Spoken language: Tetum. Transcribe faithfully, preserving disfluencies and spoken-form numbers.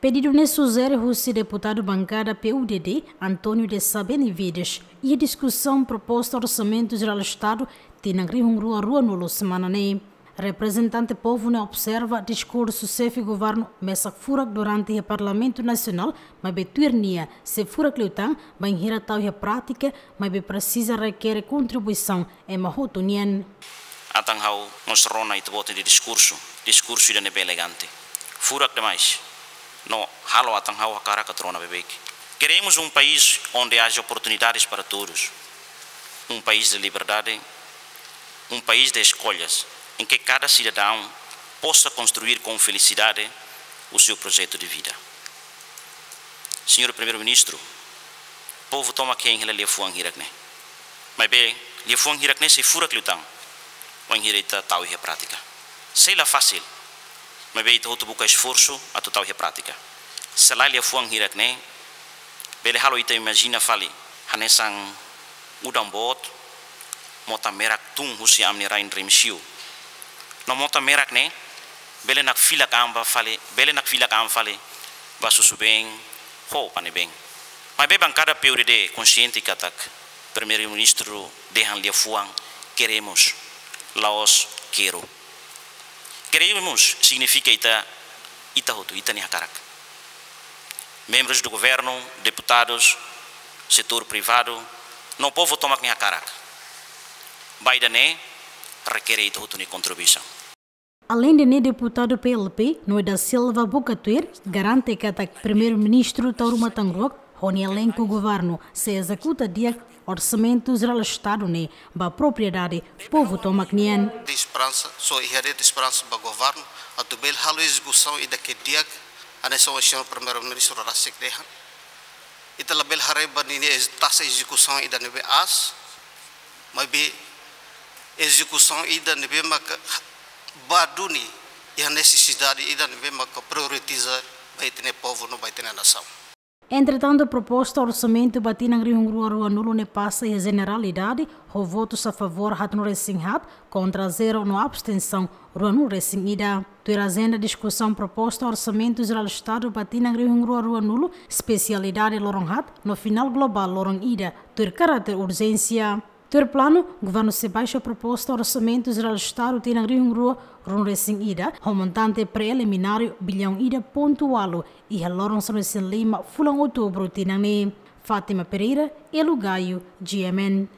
Pedidu ne'e sujere husi deputadu bankada P U D D, António de Sabeni Vides, iha diskusaun proposta Orsamentu Jerál Estadu tinan rihun rua ruanulu semana ne'e. Reprezentante povu ne'e observa diskursu xefe governu mesak furak durante iha Parlamentu Nasionál, maibé tuir nia sei furak liután, bainhira tau iha prátika, maibé presiza rekere kontribuisaun ema hotu nian. Entaun ha'u mós rona ita-boot nia diskursu, diskursu ida ne'ebé elegante. Furak demais. No halo entaun ha'u hakarak atu rona beibeik. Queremos um país onde haja oportunidades para todos. Um país de liberdade, um país de escolhas, em que cada cidadão possa construir com felicidade o seu projeto de vida. Senhor Primeiro-Ministro, povu tomak hein hela liafuan hirak ne'e. Maibé liafuan hirak ne'e sei furak liután bainhira ita tau iha prátika. Sei la fásil, maibé ita hotu buka esforsu atu tau iha prátika. Se lae liafuan hirak ne'e, bele halo ita imajina fali hanesan udan boot, mota merak tun husi ami-nia rain Remexio. No mota merak ne'e bele nakfilak an ba fali, bele nakfilak an fali ba susubeen ho panebeen. Maibé bankada P U D D konsiente katak Primeiru-Ministru dehan liafuan queremos, la'ós quero. Queremos signifika ita, ita hotu, ita-nia hakarak. Membrus do governu, deputadus, setór privadu, no povu tomak nia hakarak. Ba ida-ne'e rekere ita hotu nia kontribuisaun. Aleinde ne'e, deputadu P L P, Noé da Silva buka tuir garante katak Primeiru-Ministru tau ruma tan ruak ho nia elenku governu sei ezekuta di'ak Orsamentu Jerál Estadu ne'e ba propriedade povu tomak nian. Esperansa, só iha de'it esperansa ba governu atu bele halo ezekusaun ida ke di'ak, hanesan señór Primeiru-Ministru rasik dehan. Ita labele haree ba ninia ez-, taxa ezekusaun ida ne'ebé aas, maibé ezekusaun ida ne'ebé maka ba duni iha nesesidade ida ne'ebé maka prioritiza ba ita-nia povu no ba ita-nia nasaun. Entretantu, proposta orsamentu ba tinan rihun rua ruanulu ne'e pasa iha jeneralidade, ho votus a favór haatnulu resin haat, kontra zero no abstensaun ruanulu resin ida. Tuir ajenda diskusaun proposta Orsamentu Jerál Estadu ba tinan rihun rua ruanulu, espesialidade loron haat, no finál globál loron ida, tuir karáter urjénsia. Tuir planu, governu sei baixa proposta Orsamentu Jerál Estadu tinan rihun rua ruanulu resin ida, ho montante prelimináriu biliaun ida pontu ualu, iha loron sanulu resin lima fulan Outubru tinan ne'e. Fátima Pereira, Elo Gaio, G M N.